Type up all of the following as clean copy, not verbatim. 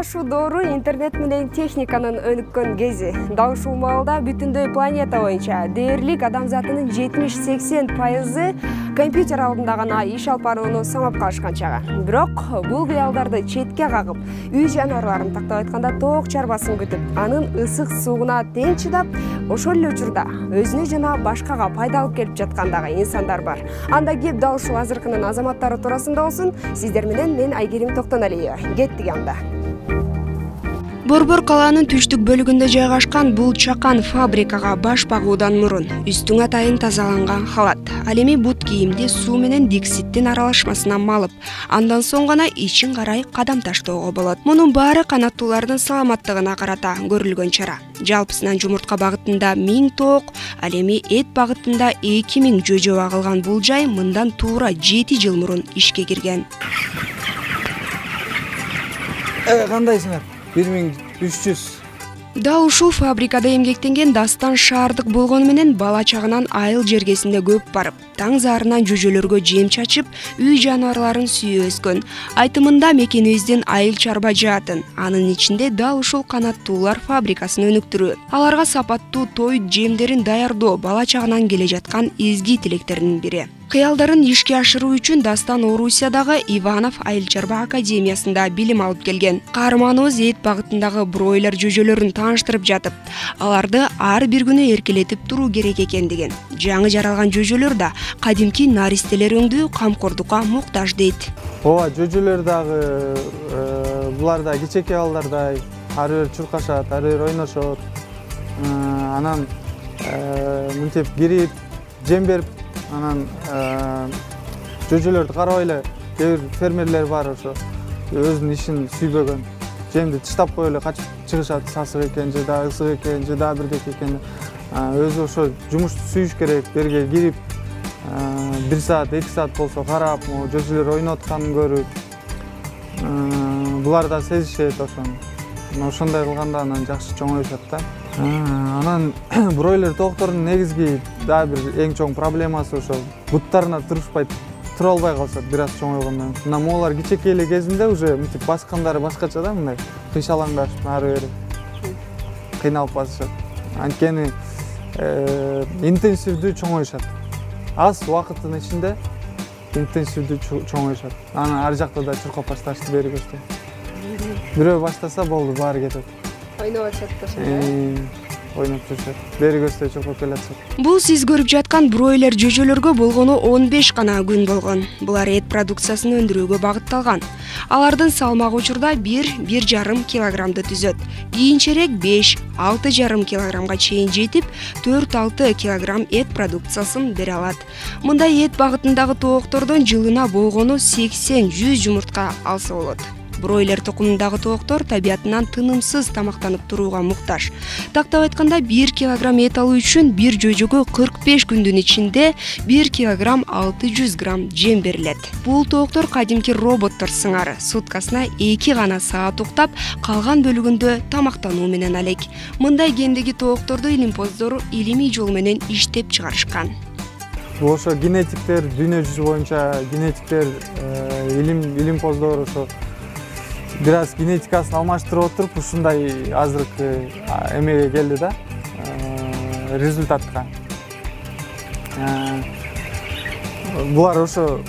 ушул доору интернет менен техниканын өнүккөн кези. Дал ушул маалда бүтүндөй планета боюнча дээрлик адамзатынын 70-80% компьютер алдында гана иш алып барууну самап калышкан чагы. Бирок бул кыялдарды четке кагып, үй жаныбарларын тактап айтканда тоок чарбасын күтүп, анын ысык сууна тең чыдап, ошол эле учурда өзүнө жана башкага пайда алып келип жаткандагы инсандар бар. Анда кеп дал ушул азыркынын азаматтары туурасында болсун. Сиздер менен мен Айгерим Токтоналиева. Кеттик анда. Борбор калаанын түштүк бөлүгүндө жайгашкан бул чакан фабрикага баш багуудан мурун үстүң атайын тазаланган халат, ал эми бут кийимди суу менен дикситтин аралашмасына малып, андан соң гана ичин карай кадам таштоого болот. Мунун баары канаттуулардын саламаттыгына карата көрүлгөн чара. Жалпысынан жумуртка багытында 1000 тоок, ал эми эт багытында 2000 жөжө багылган бул жай мындан туура 7 жыл мурун ишке кирген. Кандайсыңар? 1300. Дал ушул фабрикада эмгектенген Дастан шаардык болгону менен бала чагынан айыл жергесинде көп барып, таң заарынан жөжөлөргө жем чачып, үй жаныбарларын сүйүп өскөн. Айтымында мекенибиздин айыл чарба жаатын, анын ичинде дал ушул канаттуулар фабрикасын өнүктүрүү, аларга сапаттуу той жемдерин даярдоо бала чагынан келе жаткан изги тилектердин бири. Кыялдарын ишке ашыруу үчүн Дастан Орусиядагы Иванов айыл чарба академиясында билим алып келген. Каарманыбыз эт багытындагы бройлер жөжөлөрүн тааныштырып жатып, аларды ар бир күнү эркелетип туруу керек экендигин, жаңы жаралган жөжөлөр да кадимки наристелер өңдүү камкордукка муктаж дейт. Ооба, жөжөлөр дагы булар да кичеке балдардай ар бир чуркашат, ар бир ойношот. Анан мынтип кирип, жем берип, анан жөжөлөрдү карабай эле кээ бир фермерлер бар, ошо өзүнүн ишин сүйбөгөн, жемди тыштап коюп эле качып чыгышат, сасык экен же да ысык экен же да бирдеке экен. Өзү ошо жумушту сүйүш керек, берге кирип 1 саат, 2 саат болсо карап, жөжөлөр ойноп атканын көрүп, булар да сезишет ошону. Ошондой кылганда анан жакшы чоңоюшат да. Анан бройлер тооктордун негизги дагы бир эң чоң проблемасы ошо буттарына тура албай калышат бир аз чоңойгондон. Мына могулар кичеке эле кезинде уже мынтип баскандары башкача да, мындай кыйшалаңдашып ары бери кыйналып басышат. Анткени интенсивдүү чоңоюшат. Аз убакыттын ичинде интенсивдүү чоңоюшат. Анан ар жакта да чуркап башташты, бери көчтө. Бирөө баштаса болду, баары кетет. Ойноп атышат. Ойноп жүрүшөт. Бери көчтө чуркап келатышат. Бул сиз көрүп жаткан бройлер жөжөлөргө болгону 15 гана күн болгон. Булар эт продукциясын өндүрүүгө багытталган. Алардын салмагы учурда 1–1,5 килограммды түзөт. Кийинчерээк 5–6,5 килограммга чейин жетип, 4–6 килограмм эт продукциясын бере алат. Мындай эт багытындагы тооктордон жылына болгону 80–100 жумуртка алса болот. Бройлер тукумундагы тооктор табиятынан тынымсыз тамактанып турууга муктаж. Тактап айтканда 1 килограмм эт алуу үчүн бир жөжөгө 45 күндүн ичинде 1 килограмм 600 грамм жем берилет. Бул тооктор кадимки роботтор сыңары суткасына 2 гана саат уктап, калган бөлүгүндө тамактануу менен алек. Мындай гендеги тоокторду илимпоздор илимий жол менен иштеп чыгарышкан. Ошо генетиктер, дүйнө жүзү боюнча генетиктер, илимпоздор ошо бир аз генетикасын алмаштырып отуруп, ушундай азыркы эмеге келди да, результатка. Булар ошо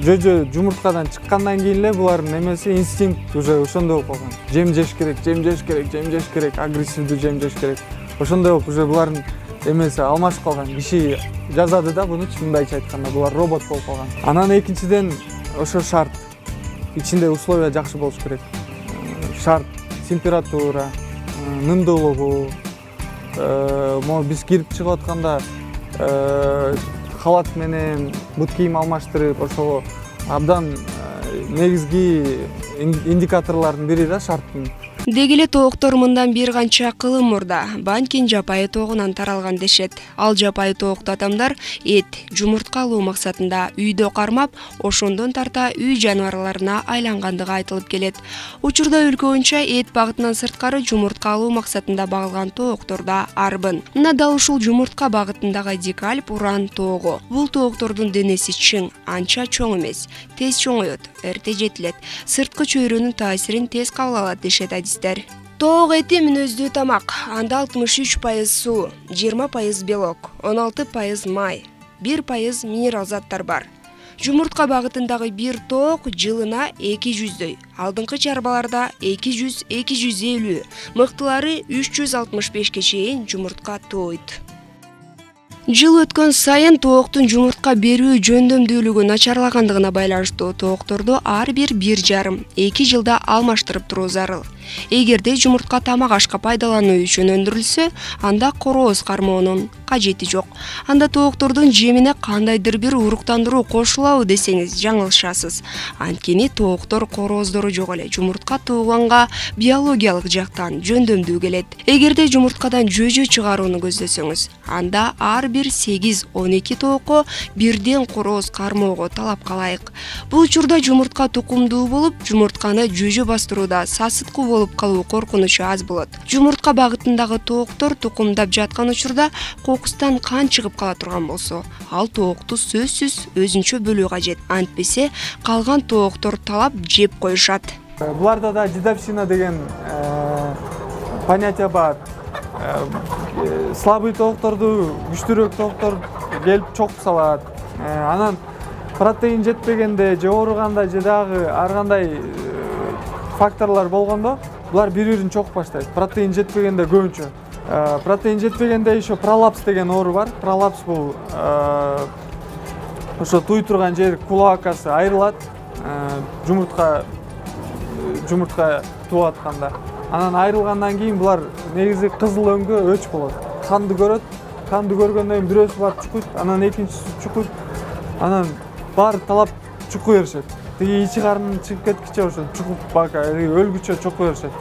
жөжө жумурткадан чыккандан кийин эле булардын эмеси инстинкт уже ошондой болуп калган. Жем жеш керек, агрессивдүү жем жеш керек. Ошондой болуп уже булардын эмеси алмашып калган. Киши жазады да буну, мындайча айтканда, булар робот болуп калган. Анан экинчиден ошо шарт. Ичинде условия жакшы болуш керек. Шарт, температура, нымдуулугу, биз кирип чыгып атканда халат менен бут кийим алмаштырып, ошого абдан негизги индикаторлордун бири да шарттын. Деги эле тооктор мындан бир канча кылым мурда Банкин жапайы тоогунан таралган дешет. Ал жапайы тоокто адамдар эт, жумуртка алуу максатында үйдө кармап, ошондон тарта үй жаныбарларына айлангандыгы айтылып келет. Учурда өлкө боюнча эт багытынан сырткары жумуртка алуу максатында багылган тооктор да арбын. Мына дал ушул жумуртка багытындагы дикальп уран тоогу. Бул тооктордун денеси чың, анча чоң эмес, тез чоңоет, эрте жетилет, сырткы чөйрөнүн таасирин тез кабыл алат дешет адистер. Тоок эти мүнөздүү тамак. Анда 63% суу, 20% белок, 16% май, 1% минерал заттар бар. Жумуртка багытындагы бир тоок жылына 200дөй, алдыңкы чарбаларда 200-250, мыктылары 365 чейин жумуртка тоойт. Жыл өткөн сайын тооктун жумуртка берүү жөндөмдүүлүгү начарлагандыгына байланыштуу тоокторду ар бир 1,5-2 жылда алмаштырып туруу зарыл. Эгерде жумуртка тамак ашка пайдалануу үчүн өндүрүлсө, анда корооз кармоонун кажети жок. Анда тооктордун жемине кандайдыр бир уруктандыруу кошулабы десеңиз жаңылышасыз. Анткени тооктор корооздору жок эле жумуртка тууганга биологиялык жактан жөндөмдүү келет. Эгерде жумурткадан жөжө чыгарууну көздөсөңүз, анда ар бир 8-12 тоокко бирден корооз кармоого талапка ылайык. Бул учурда жумуртка тукумдуу болуп, жумуртканы жөжө бастырууда сасыткы болуп калуу коркунучу аз болот. Жумуртка багытындагы тооктор тукумдап жаткан учурда кокустан кан чыгып кала турган болсо, ал тоокту сөзсүз өзүнчө бөлүү кажет. Антпесе калган тооктор талап жеп коюшат. Буларда да дедовщина деген понятие бар. Слабый тоокторду күчтүүрөөк тооктор келип чокуп салат. Анан протеин жетпегенде же ооруганда же дагы ар кандай факторлор болгондо булар бири-бирин чокуп баштайт. Протеин жетпегенде көбүнчө. Протеин жетпегенде еще пролапс деген оору бар. Пролапс бул ошо туй турган жер кулоакасы айрылат. Жумуртка тууп атканда. Анан айрылгандан кийин булар негизи кызыл өңгө өч болот. Канды көрөт. Канды көргөндөн кийин бирөөсү барып чукуйт, анан экинчиси чукуйт. Анан баары талап чукуй беришет. Тиги ичи карнын чыгып кеткиче ошо чукуп бака өлгүчө чукуй беришет.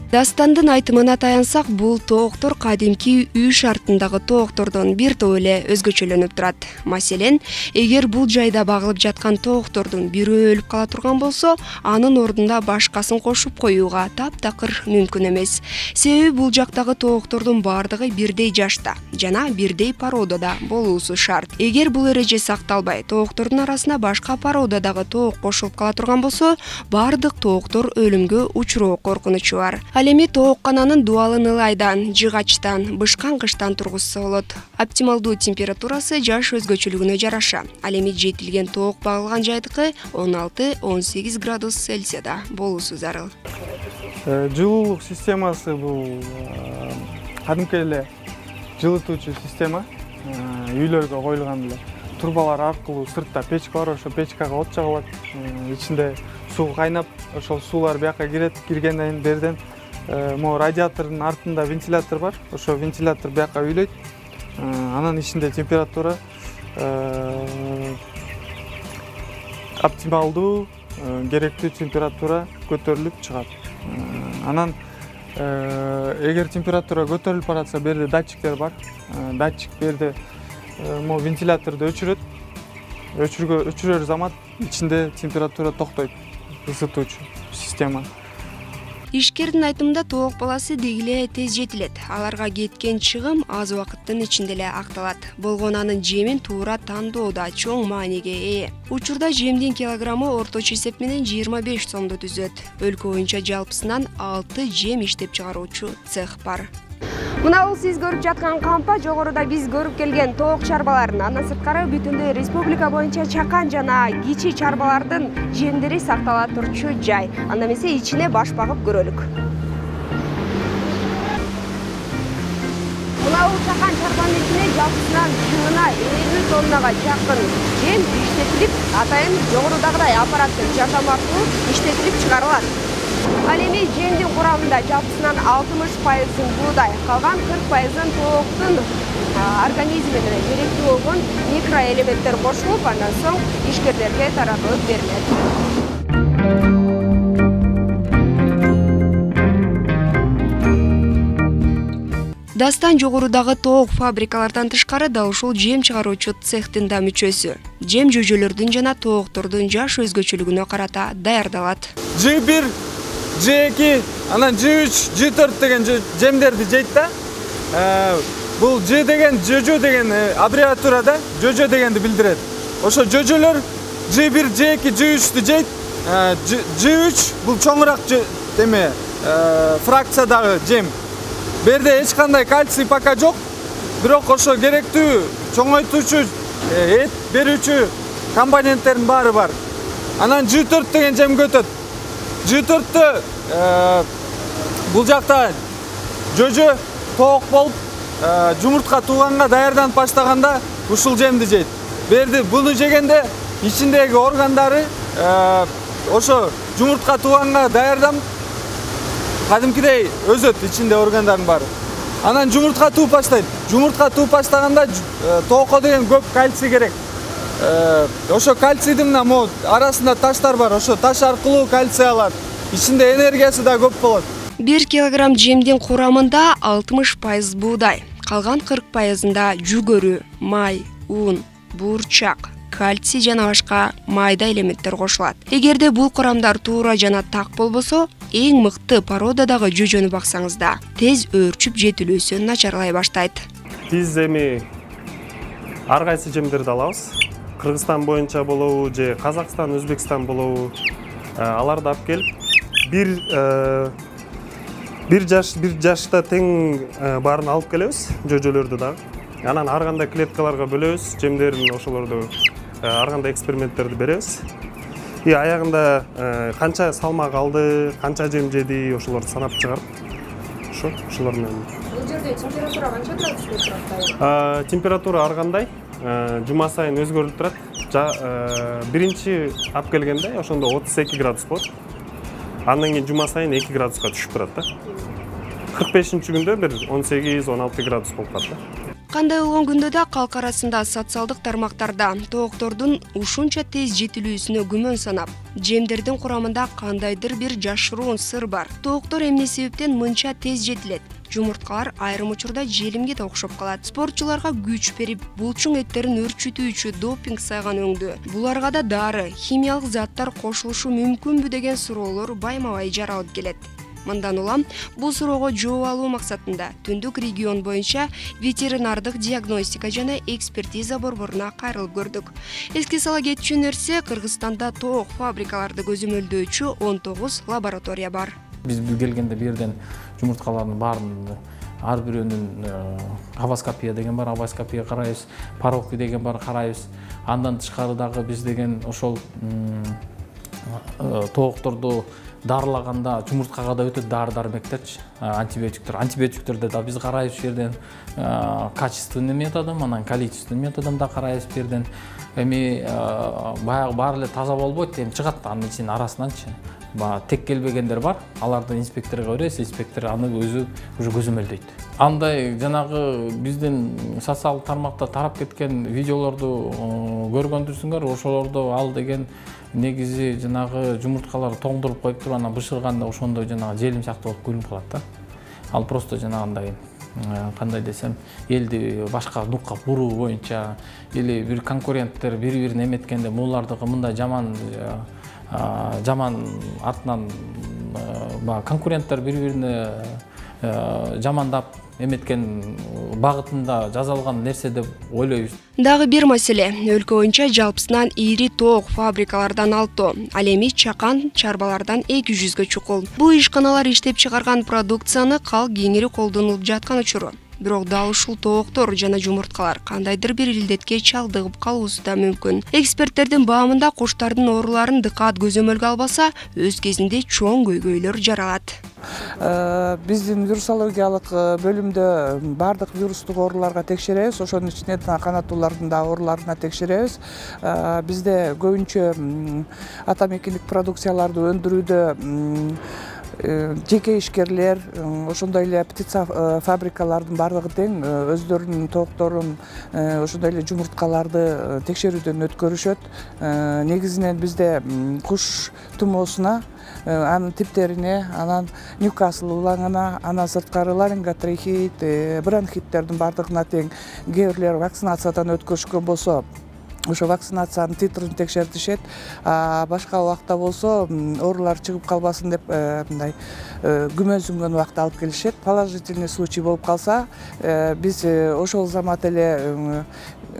Дастандын айтымына таянсак, бул тооктор кадимки үй шартындагы тооктордон бир топ эле өзгөчөлөнүп турат. Маселен, эгер бул жайда багылып жаткан тооктордун бирөө өлүп кала турган болсо, анын ордуна башкасын кошуп коюуга таптакыр мүмкүн эмес. Себеби бул жактагы тооктордун баардыгы бирдей жашта жана бирдей породада болуусу шарт. Эгер бул эреже сакталбай, тооктордун арасына башка породадагы тоок кошулуп кала турган болсо, баардык тооктор өлүмгө учуроо коркунучу бар. Ал эми тооккананын дубалын ылайдан, жыгачтан, бышкан кыштан тургузса болот. Оптималдуу температурасы жаш өзгөчөлүгүнө жараша. Ал эми жетилген тоок багылган жайдыкы 16-18 градус Цельсияда болуусу зарыл. Жылуулук системасы бул кадимки эле жылытуучу система. Үйлөргө коюлган эле турбалар аркылуу сыртта печка бар, ошо печкага от жагылат. Ичинде суу кайнап, ошол суулар бияка кирет, киргенден берден могу радиатордун артында вентилятор бар. Ошо вентилятор бияка үйлөйт. Анан ичинде температура оптималдуу, керектүү температура көтөрүлүп чыгат. Анан эгер температура көтөрүлүп баратса, берде датчиктер бар. Датчик берде могу вентиляторду өчүрөт. Өчүрөр замат ичинде температура токтойт. Ысытуучу система. Ишкердин айтымында тоок баласы деги эле тез жетилет. Аларга кеткен чыгым аз убакыттын ичинде эле акталат. Болгону анын жемин туура тандоодо чоң мааниге ээ. Учурда жемдин килограммы орточо эсеп менен 25 сомду түзөт. Өлкө боюнча жалпысынан 6 жем иштеп чыгаруучу цех бар. Мына бул сиз көрүп жаткан кампа жогоруда биз көрүп келген тоок чарбаларын, андан сырткары бүтүндөй республика боюнча чакан жана кичи чарбалардын жемдери сактала турчу жай. Анда эмесе ичине баш багып көрөлүк. Мына бул чакан чарбанын ичине жалпысынан жылына 50 тоннага жакын жем иштетилип, атайын жогорудагыдай аппараттын жардамы аркылуу иштетилип чыгарылат. Ал эми жемдин курамында жалпысынан 60% буудай, калган 40% тооктун организмине керектүү болгон микроэлементтер кошулуп, андан соң ишкерлерге таратылып берилет. Дастан жогорудагы тоок фабрикалардан тышкары дал ушул жем чыгаруучу цехтин да мүчөсү. Жем жөжөлөрдүн жана тооктордун жаш өзгөчөлүгүнө карата даярдалат. J1, J2, анан J3, J4 деген жемдерди жейт да. Бул J деген жөжө деген аббревиатурада жөжө дегенди билдирет. Ошо жөжөлөр J1, J2, J3тү жейт. J3 бул чоңураак фракциядагы жем. Берде эч кандай кальций пока жок, бирок ошо керектүү чоңойтуучу, эт берүүчү компоненттердин баары бар. Анан J4 деген жемге өтөт. J4тө бул жакта жөжө тоок болуп, жумуртка тууганга даярданып баштаганда ушул жемди жейт. Берди буну жегенде ичиндеги органдары ошо жумуртка тууганга даярданып кадимкидей өсөт, ичинде органдардын баары. Анан жумуртка тууп баштайт. Жумуртка тууп баштаганда тоокко деген көп кальций керек. Ошо кальцийдин мына арасында таштар бар. Ошо таш аркылуу кальций алат. Ичинде энергиясы да көп болот. 1 килограмм жемдин курамында 60% буудай, калган 40%-ында жүгөрү, май, ун, буурчак, кальций жана башка майда элементтер кошулат. Эгерде бул курамдар туура жана так болбосо, эң мыкты породадагы жөжөнү баксаңыз да тез өөрчүп жетилүүсү начарлай баштайт. Биз эми ар кайсы жемдерди алабыз. Кыргызстан боюнча болобу же Казакстан, Өзбекстан болобу, аларды алып келип бир жашта тең баарын алып келебиз, жөжөлөрдү дагы. Анан ар кандай клеткаларга бөлөбүз, жемдерин ошолорду ар кандай эксперименттерди беребиз. И аягында канча салмак алды, канча жем жеди, ошолорду санап чыгарып, ошолор менен. Бул жерде температура канча градуста турат? Температура ар кандай, жума сайын өзгөрүлүп турат. Биринчи алып келгенде ошондо 32 градус болот. Андан кийин жума сайын 2 градуска түшүп турат да. 45-күндө бир 18-16 градус болуп калат да. Кандай болгон күндө да калк арасында социалдык тармактарда тооктордун ушунча тез жетилүүсүнө күмөн санап, жемдердин курамында кандайдыр бир жашыруун сыр бар. Тооктор эмне себептен мынча тез жетилет? Жумурткалар айрым учурда желимге да окшоп калат. Спортчуларга күч берип, булчуң эттерин өрчүтүүчү допинг сайган өңдү. Буларга да дары, химиялык заттар кошулушу мүмкүнбү деген суроолор байма-бай жаралып келет. Мындан улам бул суроого жооп алуу максатында Түндүк регион боюнча ветеринардык диагностика жана экспертиза борборуна кайрылып көрдүк. Эске сала кетчү нерсе, Кыргызстанда тоок фабрикаларды көзөмөлдөөчү 19 лаборатория бар. Биз келгенде бу жерден жумурткалардын баарын ар бирөөнүн авоскопия деген бар, авоскопия карайбыз, паровки деген бар карайбыз. Андан тышкары дагы биз деген ошол тоокторду дарылаганда жумурткага да өтө дары-дармектерчи, антибиотиктерди да биз карайбыз бу жерден, качественный методом, анан количественный методом да карайбыз бу жерден. Эми баягы баары эле таза болбойт, эми чыгат анын ичинин арасынанчы. Тек келбегендер бар, аларды инспекторго беребиз, инспектор аны өзү уже көзөмөлдөйт. Андай жанагы биздин социалдык тармакта тарап кеткен видеолорду көргөндүрсүңөр, ошолорду ал деген негизи жанагы жумурткалар тоңдуруп коюп туруп, анан бышырганда ошондой жанагы желим сыяктуу болуп көрүнүп калат да. Ал просто жанагындай кандай десем, элди башка нукка буруу боюнча или бир конкуренттер бири-бирин эметкенде булардыкы мындай жаман артынан конкуренттер бири-бирине жамандап эметкен багытында жазалган нерсе деп ойлойбуз. Дагы бир маселе, өлкө боюнча жалпысынан ири тоок фабрикалардан 6, ал эми чакан чарбалардан 200-гө чукул. Бул ишканалар иштеп чыгарган продукцияны калк кеңири колдонулуп жаткан учуру. Бирок дал ушул тооктор жана жумурткалар кандайдыр бир илдетке чалдыгып калуусу да мүмкүн. Эксперттердин баамында куштардын ооруларын дыкаат көзөмөлгө албаса, өз кезинде чоң көйгөйлөр жаралат. Биздин вирусологиялык бөлүмдө бардык вирустук ооруларга текшеребиз, ошонун ичинде канаттуулардын да ооруларына текшеребиз. Бизде көбүнчө атамекендик продукцияларды өндүрүүдө жеке ишкерлер, ошондой эле птица фабрикалардын баардыгы тең өздөрүнүн тоокторун, ошондой эле жумурткаларды текшерүүдөн өткөрүшөт. Негизинен бизде куш тумоосуна, анын типтерине, анан Ньюкасл улаңына, анан сырткары ларинготрахеит, бронхиттердин баардыгына тең кээ бирлер вакцинациядан өткөрүшкөн болсо, ошо вакцинациянын титрин текшертишет. Башка убакта болсо оорулар чыгып калбасын деп мындай күмөнсүнгөн убакта алып келишет. Положительный случай болуп калса, биз ошол замат эле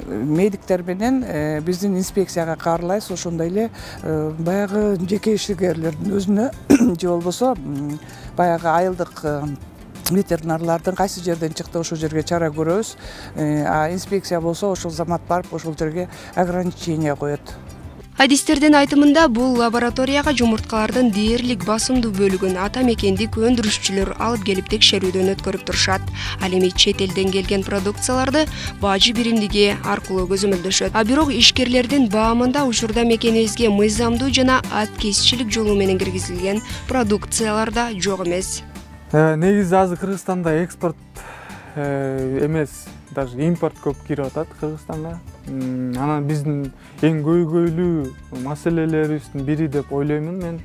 медиктер менен биздин инспекцияга каарылайбыз. Ошондой эле баягы жеке ишкерлердин өзүнө же болбосо баягы айылдык ветеринарлардын кайсы жерден чыкты ошол жерге чара көрөбүз. Инспекция болсо ошол замат барып ошол жерге ограничение коет. Адистердин айтымында бул лабораторияга жумурткалардын дээрлик басымдуу бөлүгүн ата мекендик өндүрүшчүлөр алып келип текшерүүдөн өткөрүп турушат. Ал эми чет элден келген продукцияларды бажы биримдиги аркылуу көзөмөлдөшөт. Бирок ишкерлердин баамында учурда мекенибизге мыйзамдуу жана аткезчилик жолу менен киргизилген продукциялар да жок эмес. Негизи азыр Кыргызстанда экспорт эмес, даже импорт көп кирип атат Кыргызстанга. Анан биздин эң көйгөйлүү маселелерибиздин бири деп ойлоймун мен.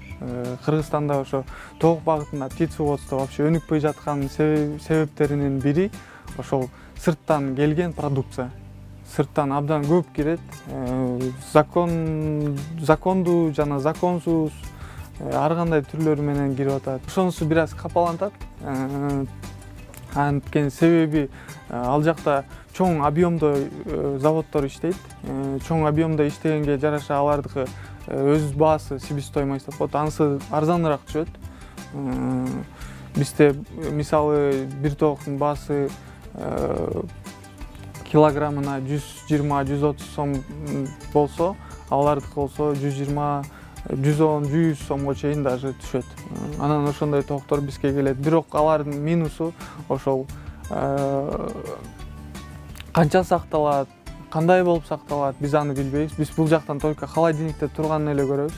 Кыргызстанда ошо тоок багытында птицеводство вообще өнүкпөй жаткан себептеринин бири ошол сырттан келген продукция. Сырттан абдан көп кирет. Закондуу жана законсуз ар кандай түрлөрү менен кирип атат. Ошонусу бир аз капалантат. Анткени себеби ал жакта чоң объемдо заводдор иштейт. Чоң объемдо иштегенге жараша алардыкы өз баасы себестоимость деп коет. Анысы арзаныраак түшөт. Бизде мисалы бир тооктун баасы килограммына 120-130 сом болсо, алардыкы болсо 120 110-100 сомго чейин даже түшөт. Анан ошондой тооктор бизге келет. Бирок алардын минусу ошол канча сакталат, кандай болуп сакталат, биз аны билбейбиз. Биз бул жактан только холодильникте турганын эле көрөбүз.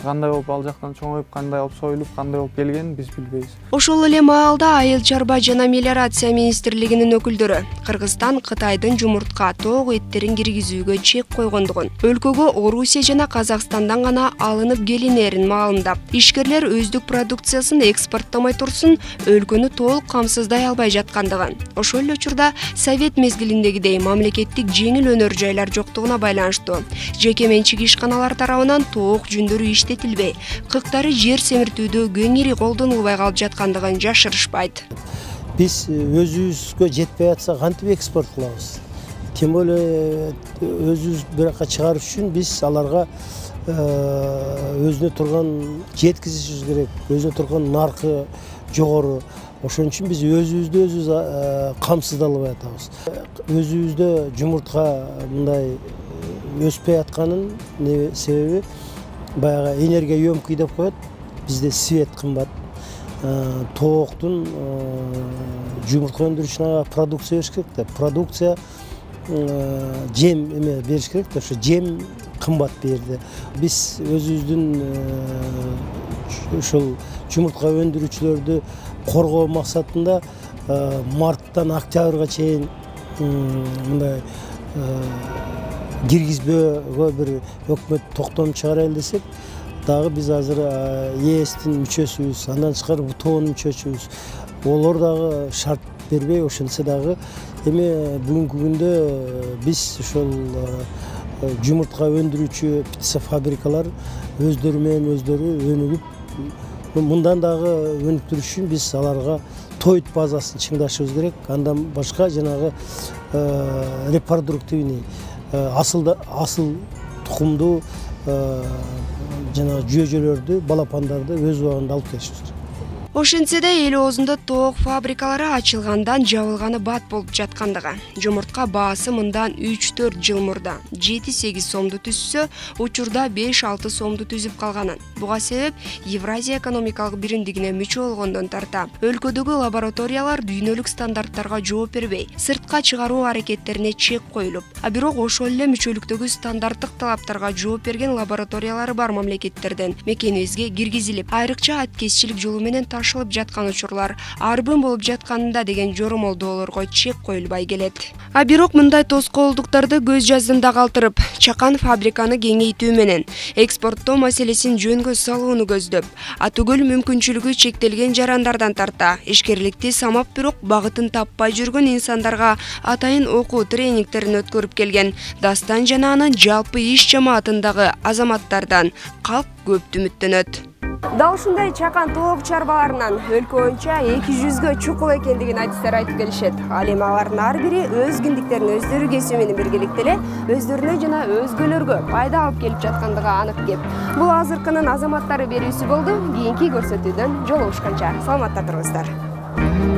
Кандай болуп ал жактан чоңоюп, кандай болуп союлуп, кандай болуп келгенин биз билбейбиз. Ошол эле маалда Айыл чарба жана мелиорация министрлигинин өкүлдөрү Кыргызстан Кытайдын жумуртка тоок эттерин киргизүүгө чек койгондугун, өлкөгө Орусия жана Казакстандан гана алынып келинерин маалымдап, ишкерлер өздүк продукциясын экспорттомой турсун, өлкөнү толук камсыздай албай жаткандыгын. Ошол эле учурда Совет мезгилиндегидей мамлекеттик жеңил өнөр жайлар жоктугуна байланыштуу жеке менчик ишканалар тарабынан тоок жүндөрү иштетилбей, кыктары жер семиртүүдө кеңири колдонулбай калып жаткандыгын жашырышпайт. Биз өзүбүзгө жетпей атса кантип экспорт кылабыз? Тем более өзүбүз биракка чыгарыш үчүн биз аларга өзүнө турган жеткизишибиз керек, өзүнө турган наркы жогору. Ошон үчүн биз өзүбүздү өзүбүз камсыздай албай атабыз. Өзүбүздө жумуртка мындай өспөй атканын себеби баягы энергия өмкүй деп коет. Бизде свет кымбат. Тооктун жумуртка өндүрүшүнө продукция бериш керек да. Продукция жем эме бериш керек да. Ошо жем кымбат бу жерде. Биз өзүбүздүн ушул жумуртка өндүрүүчүлөрдү коргоо максатында марттан октябрга чейин мындай киргизбөөгө бир өкмөт токтом чыгарайлы десек, дагы биз азыр ЕСтин мүчөсүбүз, андан тышкары ВТОнун мүчөсүбүз. Олор дагы шарт бербей, ошентсе дагы эми бүгүнкү күндө биз ошол жумуртка өндүрүүчү птицефабрикалар өздөрү менен өздөрү өнүгүп, мындан дагы өнүктүрүш үчүн биз аларга тоют базасын чыңдашыбыз керек. Андан башка жанагы репродуктивный асыл тукумдуу жана жүйөжөлөрдү, балапандарды өз убагында алып келишибиз керек. Ошентсе да эл оозунда тоок фабрикалары ачылгандан жабылганы бат болуп жаткандыгы. Жумуртка баасы мындан 3-4 жыл мурда 7-8 сомду түзсө, учурда 5-6 сомду түзүп калганын. Буга себеп Евразия экономикалык биримдигине мүчө болгондон тарта өлкөдөгү лабораториялар дүйнөлүк стандарттарга жооп бербей, сыртка чыгаруу аракеттерине чек коюлуп, а бирок ошол эле мүчөлүктөгү стандарттык талаптарга жооп берген лабораториялары бар мамлекеттерден мекенибизге киргизилип, айрыкча аткезчилик жолу менен ташылып жаткан учурлар арбын болуп жатканында деген жоромолдоолорго чек коюлбай келет. А бирок мындай тоскоолдуктарды көз жаздымда калтырып, чакан фабриканы кеңейтүү менен экспорттоо маселесин жөнгө салууну көздөп, атүгүл мүмкүнчүлүгү чектелген жарандардан тарта ишкерликти самап бирок багытын таппай жүргөн инсандарга атайын окуу тренингтерин өткөрүп келген Дастан жана анын жалпы иш жамаатындагы азаматтардан калк көп үмүттөнөт. Дал ушундай чакан тоок чарбаларынан өлкө боюнча 200гө чукул экендигин адистер айтып келишет. Ал эми алардын ар бири өз киндиктерин өздөрү кесүү менен биргеликте эле өздөрүнө жана өзгөлөргө пайда алып келип жаткандыгы анык кеп. Бул азыркынын азаматтары берүүсү болду. Кийинки көрсөтүүдөн жолугушканча саламатта туруңуздар.